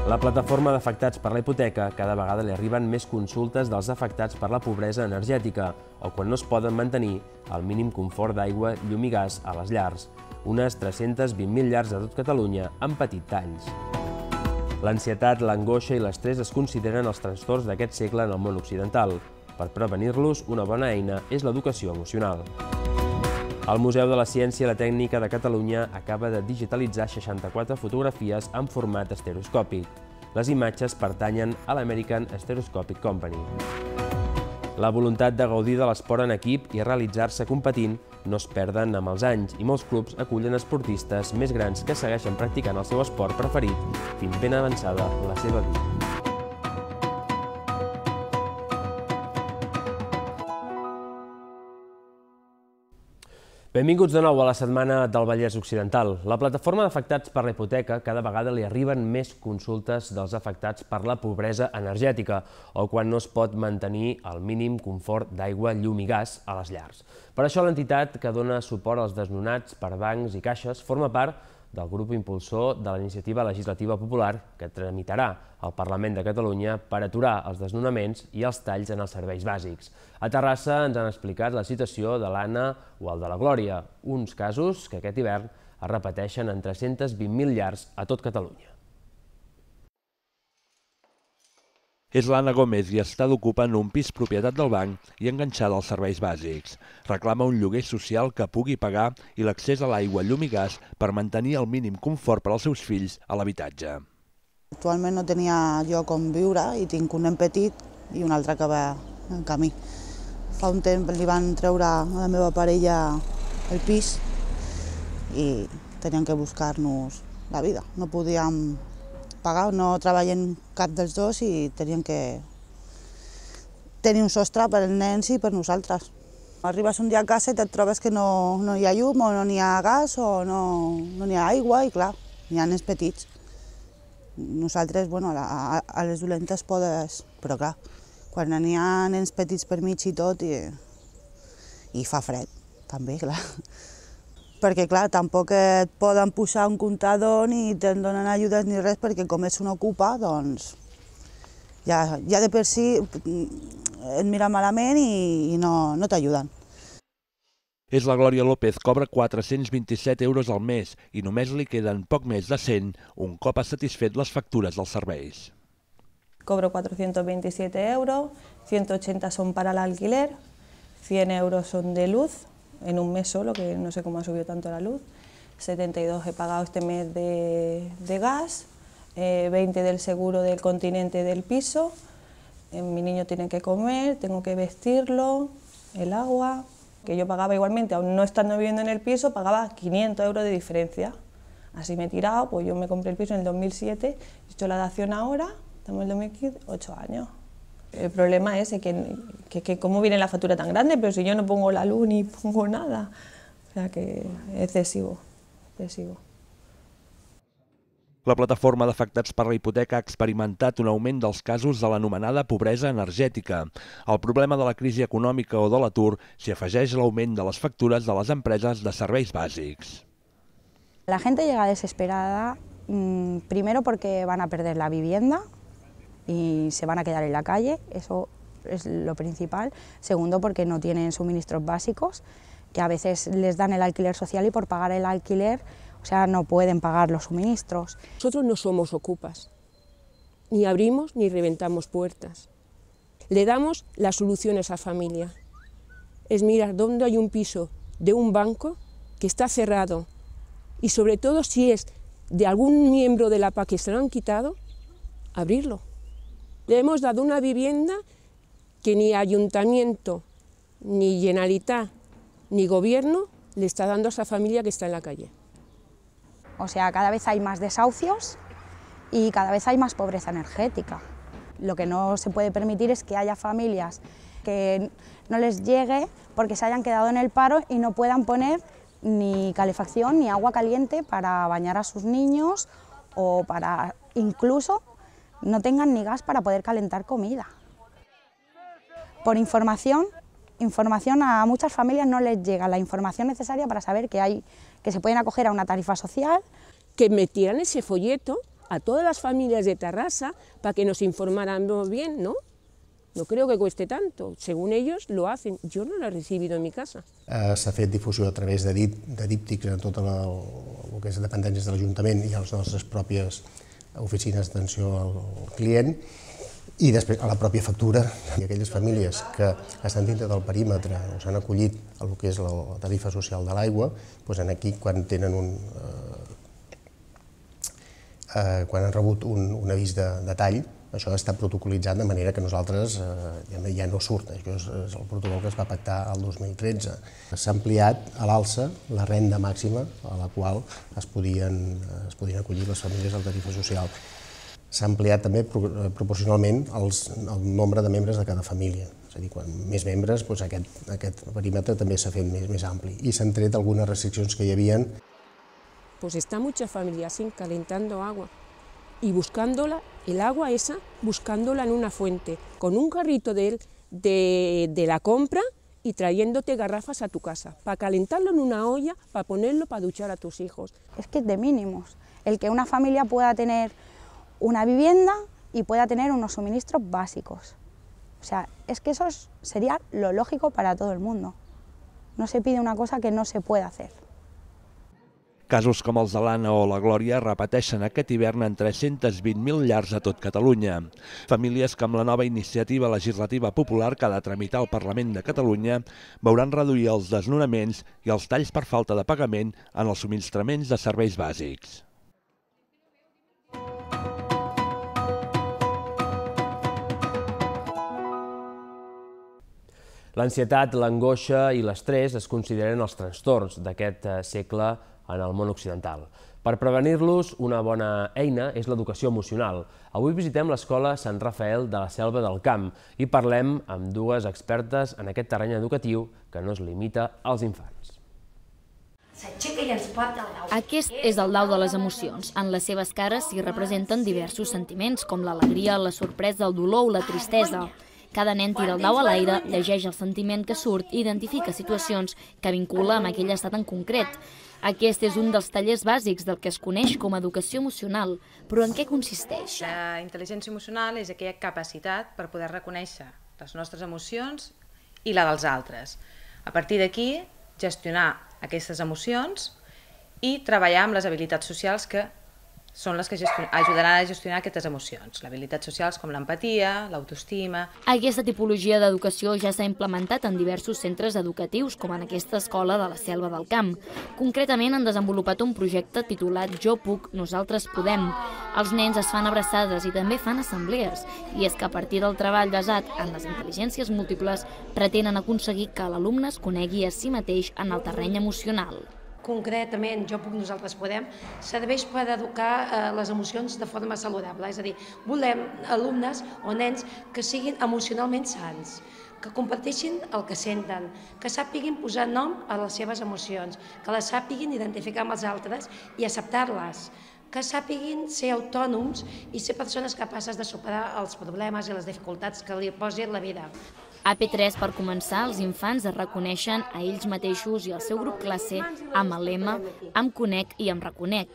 La plataforma d'afectats per la hipoteca cada vegada li arriben més consultes dels afectats per la pobresa energètica o quan no es poden mantenir el mínim confort d'aigua, llum i gas a les llars. Unes 320.000 llars de tot Catalunya han patit talls. L'ansietat, l'angoixa i l'estrès es consideren els trastorns d'aquest segle en el món occidental. Per prevenir-los, una bona eina és l'educació emocional. El Museu de la Ciència i la Tècnica de Catalunya acaba de digitalitzar 64 fotografies en format estereoscòpic. Les imatges pertanyen a l'American Stereoscopic Company. La voluntat de gaudir de l'esport en equip i realitzar-se competint no es perden amb els anys i molts clubs acullen esportistes més grans que segueixen practicant el seu esport preferit fins ben avançada la seva vida. Benvinguts de nou a la setmana del Vallès Occidental. La plataforma d'afectats per la hipoteca cada vegada li arriben més consultes dels afectats per la pobresa energètica o quan no es pot mantenir el mínim confort d'aigua, llum i gas a les llars. Per això l'entitat que dona suport als desnonats per bancs i caixes forma part del grup impulsor de la iniciativa legislativa popular que tramitarà al Parlament de Catalunya per aturar els desnonaments i els talls en els serveis bàsics. A Terrassa ens han explicat la situació de l'Anna o el de la Glòria, uns casos que aquest hivern es repeteixen en 320.000 llars a tot Catalunya. És l'Anna Gómez i està d'ocupar en un pis propietat del banc i enganxada als serveis bàsics. Reclama un lloguer social que pugui pagar i l'accés a l'aigua, llum i gas per mantenir el mínim confort per als seus fills a l'habitatge. Actualment no tenia lloc on viure i tinc un nen petit i un altre que va en camí. Fa un temps li van treure a la meva parella el pis i teníem que buscar-nos la vida. No podíem pagar, no treballem cap dels dos i teníem que tenir un sostre per als nens i per nosaltres. Arribes un dia a casa i et trobes que no hi ha llum o no hi ha gas o no hi ha aigua i clar, hi ha nens petits. Nosaltres, bueno, a les dolentes podes, però clar, quan n'hi ha nens petits per mig i tot i fa fred, també, clar. Perquè, clar, tampoc et poden posar un comptador ni te'n donen ajudes ni res, perquè com ets un ocupa, doncs ja de per si et mira malament i no t'ajuden. És la Glòria López, cobra 427 euros al mes i només li queden poc més de 100 un cop ha satisfet les factures dels serveis. Cobro 427 euros, 180 son para el alquiler, 100 euros son de luz, en un mes solo, que no sé cómo ha subido tanto la luz, 72 he pagado este mes de gas, 20 del seguro del continente del piso, mi niño tiene que comer, tengo que vestirlo, el agua, que yo pagaba igualmente, aún no estando viviendo en el piso, pagaba 500 euros de diferencia. Así me he tirado, pues yo me compré el piso en el 2007, he hecho la dación ahora, estamos en el 2015, 8 años. El problema es que cómo viene la factura tan grande, pero si yo no pongo la luz ni pongo nada. O sea que es excesivo, excesivo. La plataforma d'afectats per la hipoteca ha experimentat un augment dels casos de l'anomenada pobresa energètica. Al problema de la crisi econòmica o de l'atur s'hi afegeix l'augment de les factures de les empreses de serveis bàsics. La gente llega desesperada, primero porque van a perder la vivienda y se van a quedar en la calle, eso es lo principal. Segundo, porque no tienen suministros básicos, que a veces les dan el alquiler social y por pagar el alquiler, o sea, no pueden pagar los suministros. Nosotros no somos ocupas, ni abrimos ni reventamos puertas. Le damos la solución a esa familia. Es mirar dónde hay un piso de un banco que está cerrado y sobre todo si es de algún miembro de la PA que se lo han quitado, abrirlo. Le hemos dado una vivienda que ni ayuntamiento, ni Generalitat, ni gobierno le está dando a esa familia que está en la calle. O sea, cada vez hay más desahucios y cada vez hay más pobreza energética. Lo que no se puede permitir es que haya familias que no les llegue porque se hayan quedado en el paro y no puedan poner ni calefacción ni agua caliente para bañar a sus niños o para incluso no tengan ni gas para poder calentar comida. Por información a muchas familias no les llega la información necesaria para saber que se pueden acoger a una tarifa social. Que metieran ese folleto a todas las familias de Tarrasa para que nos informáramos bien, ¿no? No creo que cueste tanto. Según ellos lo hacen. Yo no lo he recibido en mi casa. S'ha fet difusió a través de díptics en tot el que és dependències de l'Ajuntament i a les nostres pròpies oficines d'atenció al client, i després a la pròpia factura. I aquelles famílies que estan dintre del perímetre o s'han acollit a el que és la tarifa social de l'aigua, doncs aquí quan han rebut un avís de tall, això està protocolitzat de manera que nosaltres ja no surt. Això és el protocol que es va pactar el 2013. S'ha ampliat a l'alça la renda màxima a la qual es podien acollir les famílies a la tarifa social. S'ha ampliat també proporcionalment el nombre de membres de cada família. És a dir, quan més membres, aquest perímetre també s'ha fet més ampli. I s'han tret algunes restriccions que hi havia. Pues está mucha familia así, calentando agua y buscándola, el agua esa, buscándola en una fuente, con un carrito de la compra y trayéndote garrafas a tu casa, para calentarlo en una olla, para ponerlo para duchar a tus hijos. Es que es de mínimos, el que una familia pueda tener una vivienda y pueda tener unos suministros básicos. O sea, es que eso sería lo lógico para todo el mundo. No se pide una cosa que no se puede hacer. Casos com els de l'Anna o la Glòria repeteixen aquest hivern en 320.000 llars a tot Catalunya. Famílies que amb la nova iniciativa legislativa popular que ha de tramitar al Parlament de Catalunya veuran reduir els desnonaments i els talls per falta de pagament en els subministraments de serveis bàsics. L'ansietat, l'angoixa i l'estrès es consideren els trastorns d'aquest segle en el món occidental. Per prevenir-los, una bona eina és l'educació emocional. Avui visitem l'Escola Sant Rafael de la Selva del Camp i parlem amb dues expertes en aquest terreny educatiu que no es limita als infants. Aquest és el dau de les emocions. En les seves cares s'hi representen diversos sentiments, com l'alegria, la sorpresa, el dolor o la tristesa. Cada nen tira el dau a l'aire, llegeix el sentiment que surt i identifica situacions que vincula amb aquell estat en concret. Aquest és un dels tallers bàsics del que es coneix com a educació emocional. Però en què consisteix? La intel·ligència emocional és aquella capacitat per poder reconèixer les nostres emocions i la dels altres. A partir d'aquí, gestionar aquestes emocions i treballar amb les habilitats socials que són les que ajudaran a gestionar aquestes emocions. Habilitats socials com l'empatia, l'autoestima. Aquesta tipologia d'educació ja s'ha implementat en diversos centres educatius, com en aquesta escola de la Selva del Camp. Concretament han desenvolupat un projecte titulat Jo puc, nosaltres podem. Els nens es fan abraçades i també fan assemblees. I és que a partir del treball basat en les intel·ligències múltiples pretenen aconseguir que l'alumne es conegui a si mateix en el terreny emocional. Concretament, Jo puc, nosaltres podem, serveix per educar les emocions de forma saludable. És a dir, volem alumnes o nens que siguin emocionalment sans, que comparteixin el que senten, que sàpiguin posar nom a les seves emocions, que les sàpiguin identificar amb els altres i acceptar-les, que sàpiguin ser autònoms i ser persones capaces de superar els problemes i les dificultats que li posi la vida. A P3, per començar, els infants es reconeixen a ells mateixos i al seu grup classe amb el lema Em conec i em reconec.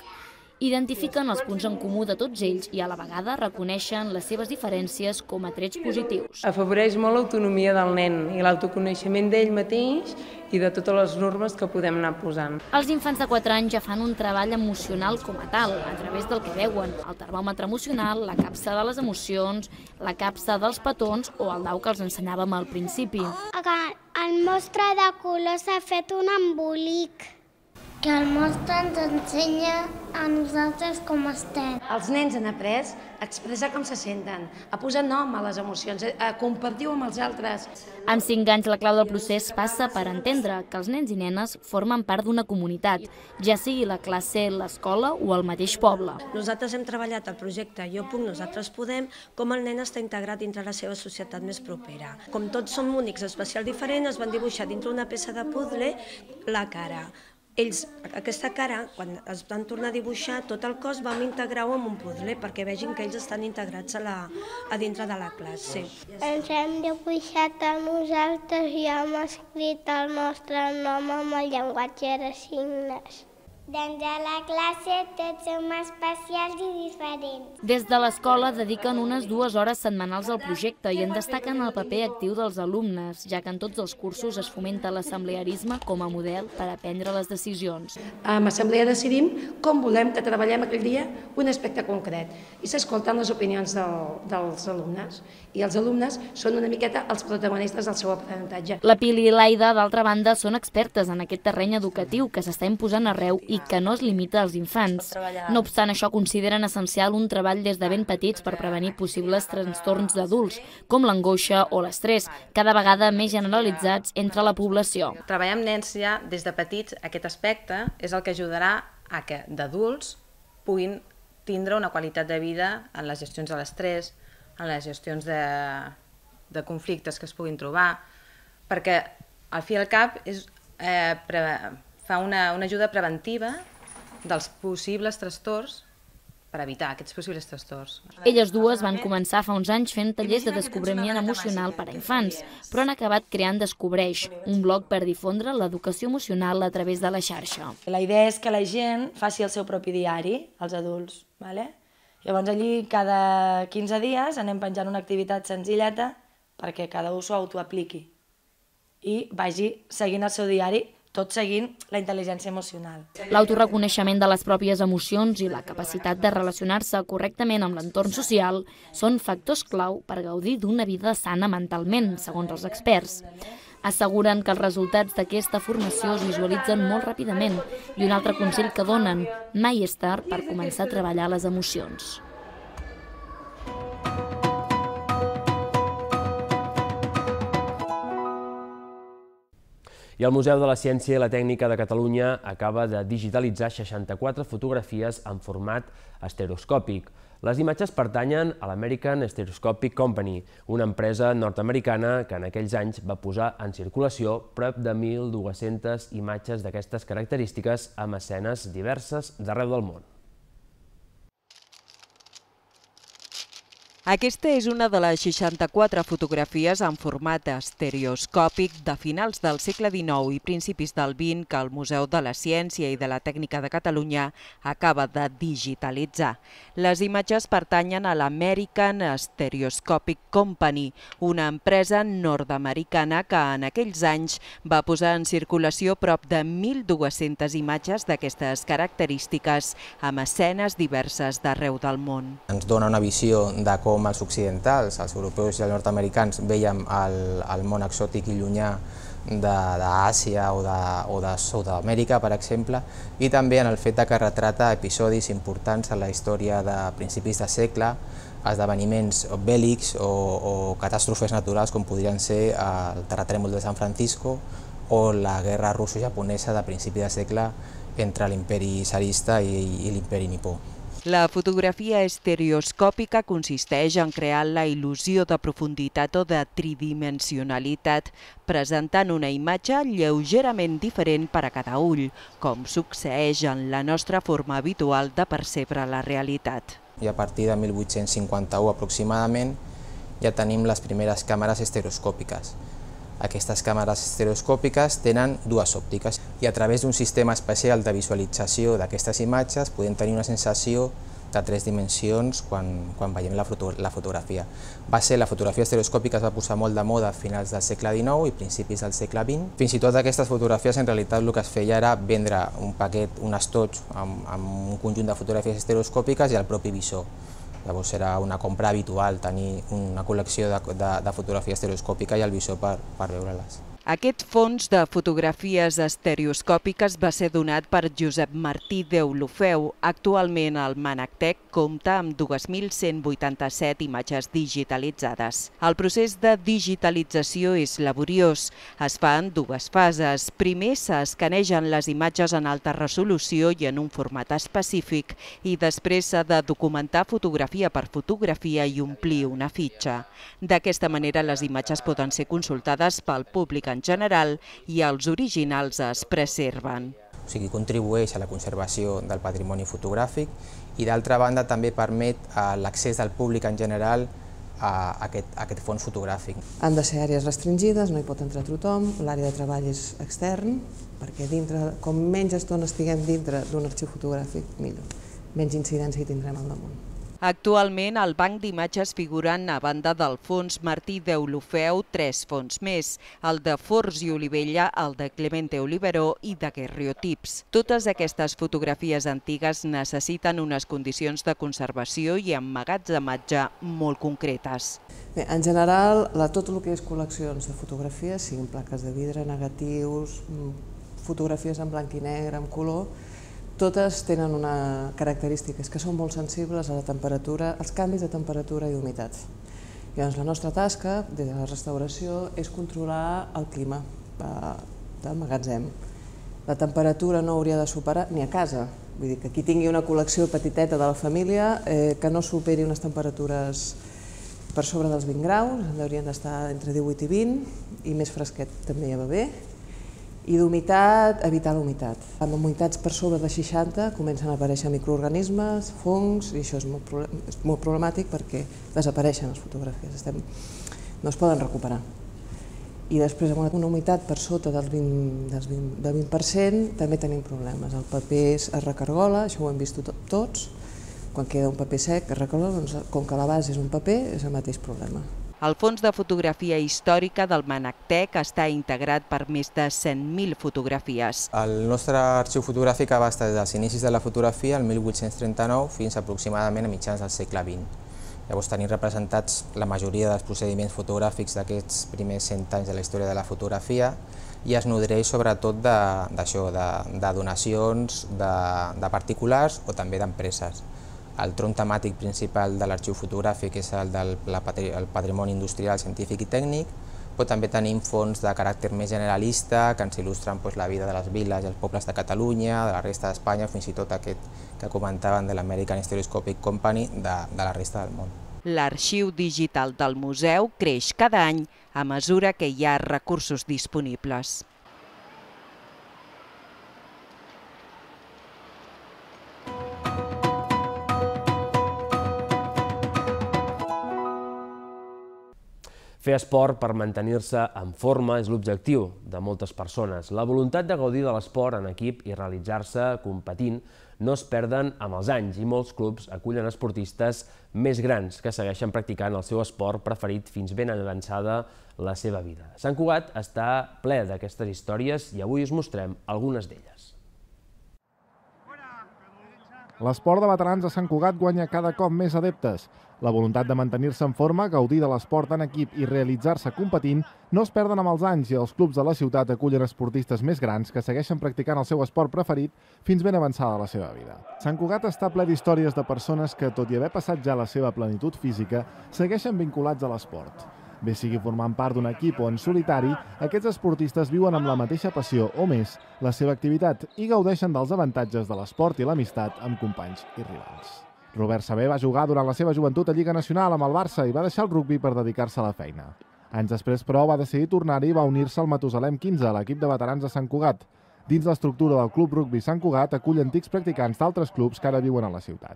Identifiquen els punts en comú de tots ells i a la vegada reconeixen les seves diferències com a trets positius. Afavoreix molt l'autonomia del nen i l'autoconeixement d'ell mateix i de totes les normes que podem anar posant. Els infants de 4 anys ja fan un treball emocional com a tal, a través del que veuen, el termòmetre emocional, la capsa de les emocions, la capsa dels petons o el dau que els ensenyàvem al principi. El mostre de colors s'ha fet un embolic. Que el mostre ens ensenya a nosaltres com estem. Els nens han après a expressar com se senten, a posar nom a les emocions, a compartir-ho amb els altres. Amb 5 anys la clau del procés passa per entendre que els nens i nenes formen part d'una comunitat, ja sigui la classe, l'escola o el mateix poble. Nosaltres hem treballat el projecte Jo puc, nosaltres podem, com el nen està integrat dintre la seva societat més propera. Com tots som únics, especials diferents, es van dibuixar dintre una peça de puzzle la cara. Ells, aquesta cara, quan es van tornar a dibuixar tot el cos, vam integrar-ho en un puzzle perquè vegin que ells estan integrats a dintre de la classe. Ens hem dibuixat a nosaltres i hem escrit el nostre nom amb el llenguatge de signes. Doncs a la classe tots som especials i diferents. Des de l'escola dediquen unes 2 hores setmanals al projecte i en destaquen el paper actiu dels alumnes, ja que en tots els cursos es fomenta l'assemblearisme com a model per a prendre les decisions. Amb assemblea decidim com volem que treballem aquell dia un aspecte concret i s'escolten les opinions dels alumnes i els alumnes són una miqueta els protagonistes del seu aprenentatge. La Pili i l'Aida, d'altra banda, són expertes en aquest terreny educatiu que s'està imposant arreu i que no es limita als infants. No obstant això, consideren essencial un treball des de ben petits per prevenir possibles trastorns d'adults, com l'angoixa o l'estrès, cada vegada més generalitzats entre la població. Treballar amb nens ja des de petits, aquest aspecte és el que ajudarà a que d'adults puguin tindre una qualitat de vida en les gestions de l'estrès, en les gestions de conflictes que es puguin trobar, perquè al fi i al cap fa una ajuda preventiva dels possibles trastorns per evitar aquests possibles trastorns. Elles dues van començar fa uns anys fent tallers de descobriment emocional per a infants, però han acabat creant Descobreix, un blog per difondre l'educació emocional a través de la xarxa. La idea és que la gent faci el seu propi diari, els adults. Llavors allí cada 15 dies anem penjant una activitat senzilleta perquè cada un s'ho autoapliqui i vagi seguint el seu diari, tot seguint la intel·ligència emocional. L'autoreconeixement de les pròpies emocions i la capacitat de relacionar-se correctament amb l'entorn social són factors clau per gaudir d'una vida sana mentalment, segons els experts. Asseguren que els resultats d'aquesta formació es visualitzen molt ràpidament i un altre consell que donen: mai és tard per començar a treballar les emocions. I el Museu de la Ciència i la Tècnica de Catalunya acaba de digitalitzar 64 fotografies en format estereoscòpic. Les imatges pertanyen a l'American Stereoscopic Company, una empresa nord-americana que en aquells anys va posar en circulació prop de 1.200 imatges d'aquestes característiques amb escenes diverses d'arreu del món. Aquesta és una de les 64 fotografies en format estereoscòpic de finals del segle XIX i principis del XX que el Museu de la Ciència i de la Tècnica de Catalunya acaba de digitalitzar. Les imatges pertanyen a l'American Stereoscopic Company, una empresa nord-americana que en aquells anys va posar en circulació prop de 1.200 imatges d'aquestes característiques amb escenes diverses d'arreu del món. Ens dona una visió de com els occidentals, els europeus i els nord-americans veiem el món exòtic i llunyà d'Àsia o de Sud-amèrica, per exemple, i també en el fet que retrata episodis importants en la història de principis de segle, esdeveniments bèl·lics o catàstrofes naturals com podrien ser el terratrèmol de San Francisco o la guerra russo-japonesa de principi de segle entre l'imperi tsarista i l'imperi nipó. La fotografia estereoscòpica consisteix en crear la il·lusió de profunditat o de tridimensionalitat, presentant una imatge lleugerament diferent per a cada ull, com succeeix en la nostra forma habitual de percebre la realitat. I a partir de 1851 aproximadament ja tenim les primeres càmeres estereoscòpiques. Aquestes càmeres estereoscòpiques tenen dues òptiques i a través d'un sistema especial de visualització d'aquestes imatges podem tenir una sensació de 3 dimensions quan veiem la fotografia. La fotografia estereoscòpica es va posar molt de moda a finals del segle XIX i principis del segle XX. Fins i tot aquestes fotografies en realitat el que es feia era vendre un paquet, un estoig amb un conjunt de fotografies estereoscòpiques i el propi visor. Llavors era una compra habitual tenir una col·lecció de fotografia estereoscòpica i el visor per veure-les. Aquest fons de fotografies estereoscòpiques va ser donat per Josep Martí Deulofeu. Actualment el Mànec compta amb 2.187 imatges digitalitzades. El procés de digitalització és laboriós. Es fa en dues fases. Primer s'escanegen les imatges en alta resolució i en un format específic i després s'ha de documentar fotografia per fotografia i omplir una fitxa. D'aquesta manera les imatges poden ser consultades pel públic en general i els originals es preserven. O sigui, contribueix a la conservació del patrimoni fotogràfic i d'altra banda també permet l'accés del públic en general aquest fons fotogràfic. Han de ser àrees restringides, no hi pot entrar tothom, l'àrea de treball és extern, perquè com menys estona estiguem dintre d'un arxiu fotogràfic, millor. Menys incidència hi tindrem al damunt. Actualment, al banc d'imatges figuren, a banda del fons Martí Deulofeu, 3 fons més, el de Forns i Olivella, el de Clemente Oliveró i de Guerriotips. Totes aquestes fotografies antigues necessiten unes condicions de conservació i emmagatzematge molt concretes. Bé, en general, tot el que és col·leccions de fotografies, siguin plaques de vidre, negatius, fotografies en blanc i negre, en color, totes tenen una característica, és que són molt sensibles a la temperatura, als canvis de temperatura i humitat. Llavors, la nostra tasca, des de la restauració, és controlar el clima del magatzem. La temperatura no hauria de superar, ni a casa, vull dir que qui tingui una col·lecció petiteta de la família, que no superi unes temperatures per sobre dels 20 graus, haurien d'estar entre 18 i 20, i més fresquet també ja va bé. I d'humitat, evitar l'humitat. Amb humitats per sobre de 60 comencen a aparèixer microorganismes, fongs, i això és molt problemàtic perquè desapareixen les fotografies, no es poden recuperar. I després amb una humitat per sota del 20% també tenim problemes. El paper es recargola, això ho hem vist tots, quan queda un paper sec es recargola, com que la base és un paper, és el mateix problema. El Fons de Fotografia Històrica del Manactec està integrat per més de 100.000 fotografies. El nostre arxiu fotogràfic abasta des dels inicis de la fotografia, el 1839, fins aproximadament a mitjans del segle XX. Llavors tenim representats la majoria dels procediments fotogràfics d'aquests primers 100 anys de la història de la fotografia i es nodreix sobretot d'això, de donacions de particulars o també d'empreses. El tronc temàtic principal de l'arxiu fotogràfic és el del patrimoni industrial, científic i tècnic, però també tenim fons de caràcter més generalista que ens il·lustren la vida de les viles i els pobles de Catalunya, de la resta d'Espanya, fins i tot aquest que comentaven de l'American Stereoscopic Company de la resta del món. L'arxiu digital del museu creix cada any a mesura que hi ha recursos disponibles. Fer esport per mantenir-se en forma és l'objectiu de moltes persones. La voluntat de gaudir de l'esport en equip i realitzar-se competint no es perden amb els anys i molts clubs acullen esportistes més grans que segueixen practicant el seu esport preferit fins ben avançada la seva vida. Sant Cugat està ple d'aquestes històries i avui us mostrem algunes d'elles. L'esport de veterans a Sant Cugat guanya cada cop més adeptes. La voluntat de mantenir-se en forma, gaudir de l'esport en equip i realitzar-se competint no es perden amb els anys i els clubs de la ciutat acullen esportistes més grans que segueixen practicant el seu esport preferit fins ben avançada la seva vida. Sant Cugat està ple d'històries de persones que, tot i haver passat ja la seva plenitud física, segueixen vinculats a l'esport. Bé sigui formant part d'un equip o en solitari, aquests esportistes viuen amb la mateixa passió o més la seva activitat i gaudeixen dels avantatges de l'esport i l'amistat amb companys i rivals. Robert Sabé va jugar durant la seva joventut a Lliga Nacional amb el Barça i va deixar el rugbi per dedicar-se a la feina. Anys després, però, va decidir tornar-hi i va unir-se al Matusalem 15, l'equip de veterans de Sant Cugat. Dins l'estructura del Club Rugbi Sant Cugat acull antics practicants d'altres clubs que ara viuen a la ciutat.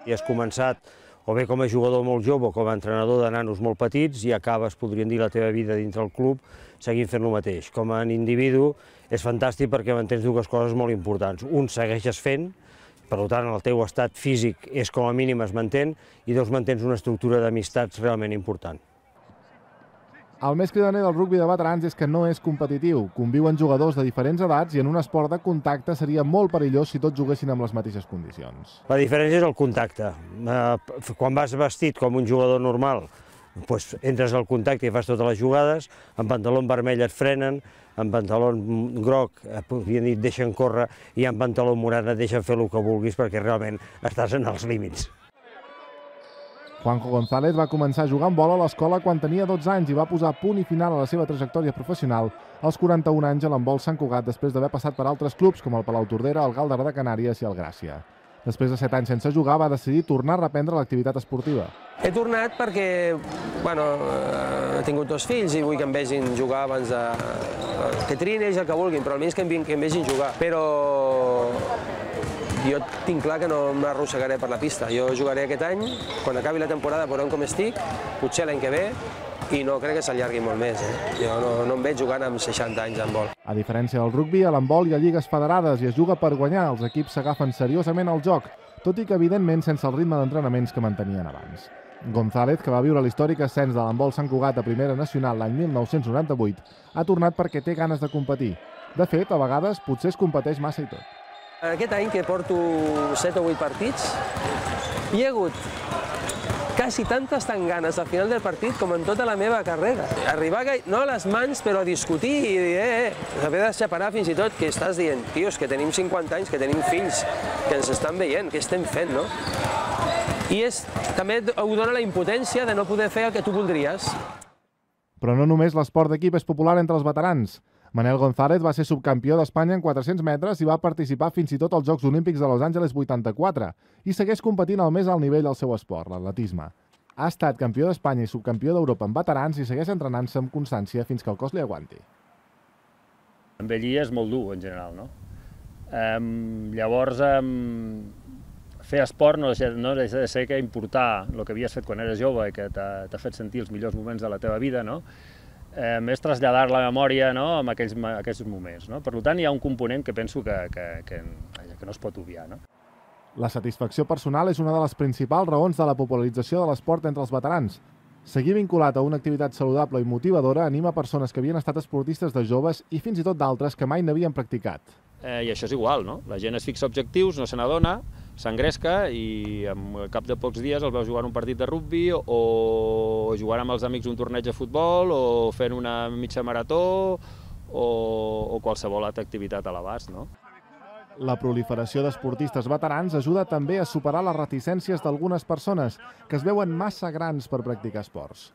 I has començat o bé com a jugador molt jove o com a entrenador de nanos molt petits i acabes, podríem dir, la teva vida dintre el club seguint fent el mateix. Com a individu és fantàstic perquè mantens dues coses molt importants. Un, segueixes fent, per tant el teu estat físic és com a mínim es mantén, i dos, mantens una estructura d'amistats realment important. El més cridaner del rugbi de veterans és que no és competitiu. Conviuen jugadors de diferents edats i en un esport de contacte seria molt perillós si tots juguessin amb les mateixes condicions. La diferència és el contacte. Quan vas vestit com un jugador normal, entres al contacte i fas totes les jugades, amb pantaló vermell et frenen, amb pantaló groc et deixen córrer i amb pantaló morat et deixen fer el que vulguis perquè realment estàs en els límits. Juanjo González va començar a jugar amb bola a l'escola quan tenia 12 anys i va posar punt i final a la seva trajectòria professional als 41 anys a l'handbol Sant Cugat després d'haver passat per altres clubs com el Palau Tordera, el Galdar de Canàries i el Gràcia. Després de 7 anys sense jugar, va decidir tornar a reprendre l'activitat esportiva. He tornat perquè he tingut 2 fills i vull que em vegin jugar abans de... que triïn ells el que vulguin, però almenys que em vegin jugar. Però Jo tinc clar que no m'arrossegaré per la pista. Jo jugaré aquest any, quan acabi la temporada veurem com estic, potser l'any que ve, i no crec que s'allargui molt més. Jo no em veig jugant amb 60 anys en vol. A diferència del rugbi, a l'handbol hi ha lligues federades i es juga per guanyar. Els equips s'agafen seriosament al joc, tot i que evidentment sense el ritme d'entrenaments que mantenien abans. González, que va viure l'històric ascens de l'handbol Sant Cugat a Primera Nacional l'any 1998, ha tornat perquè té ganes de competir. De fet, a vegades potser es competeix massa i tot. Aquest any que porto 7 o 8 partits, hi ha hagut quasi tantes ganes al final del partit com en tota la meva carrera. Arribar, no a les mans, però a discutir i dir, haver de separar fins i tot, que estàs dient, tios, que tenim 50 anys, que tenim fills, que ens estan veient, què estem fent, no? I també ho dona la impotència de no poder fer el que tu voldries. Però no només l'esport d'equip és popular entre els veterans. Manel González va ser subcampió d'Espanya en 400 metres i va participar fins i tot als Jocs Olímpics de Los Angeles 84 i segueix competint al més alt nivell del seu esport, l'atletisme. Ha estat campió d'Espanya i subcampió d'Europa en veterans i segueix entrenant-se amb constància fins que el cos li aguanti. Envellir és molt dur, en general, no? Llavors, fer esport no deixa de ser que importar el que havies fet quan eres jove i que t'ha fet sentir els millors moments de la teva vida, no? És traslladar la memòria en aquells moments. Per tant, hi ha un component que penso que no es pot obviar. La satisfacció personal és una de les principals raons de la popularització de l'esport entre els veterans. Seguir vinculat a una activitat saludable i motivadora anima persones que havien estat esportistes de joves i fins i tot d'altres que mai n'havien practicat. I això és igual, no? La gent es fixa objectius, no se n'adona, s'engresca i al cap de pocs dies el veus jugant un partit de rugbi o jugant amb els amics un torneig de futbol o fent una mitja marató o qualsevol altra activitat a l'abast, no? La proliferació d'esportistes veterans ajuda també a superar les reticències d'algunes persones que es veuen massa grans per practicar esports.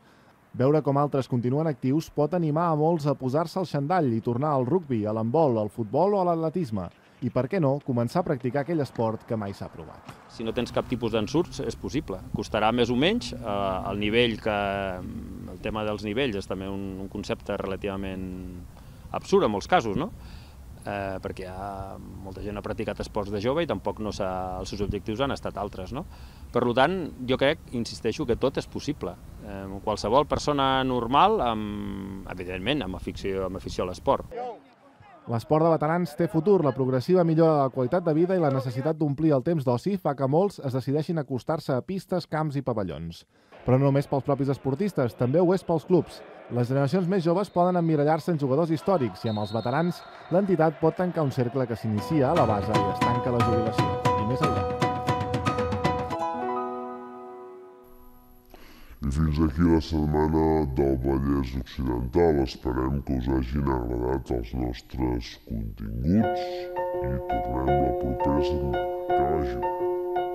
Veure com altres continuen actius pot animar a molts a posar-se al xandall i tornar al rugbi, a l'handbol, al futbol o a l'atletisme. I, per què no, començar a practicar aquell esport que mai s'ha provat. Si no tens cap tipus d'ensurts, és possible. Costarà més o menys. El tema dels nivells és també un concepte relativament absurd en molts casos, no? Perquè molta gent ha practicat esports de jove i tampoc els seus objectius han estat altres, no? Per tant, jo crec, insisteixo, que tot és possible. Qualsevol persona normal, evidentment, amb afició a l'esport. L'esport de veterans té futur, la progressiva millora de la qualitat de vida i la necessitat d'omplir el temps d'oci fa que molts es decideixin acostar-se a pistes, camps i pavellons. Però no només pels propis esportistes, també ho és pels clubs. Les generacions més joves poden emmirallar-se en jugadors històrics i amb els veterans l'entitat pot tancar un cercle que s'inicia a la base i es tanca a la jubilació. I més enllà. I fins aquí la setmana del Vallès Occidental. Esperem que us hagin agradat els nostres continguts i tornem la propera setmana. Que vagi bé.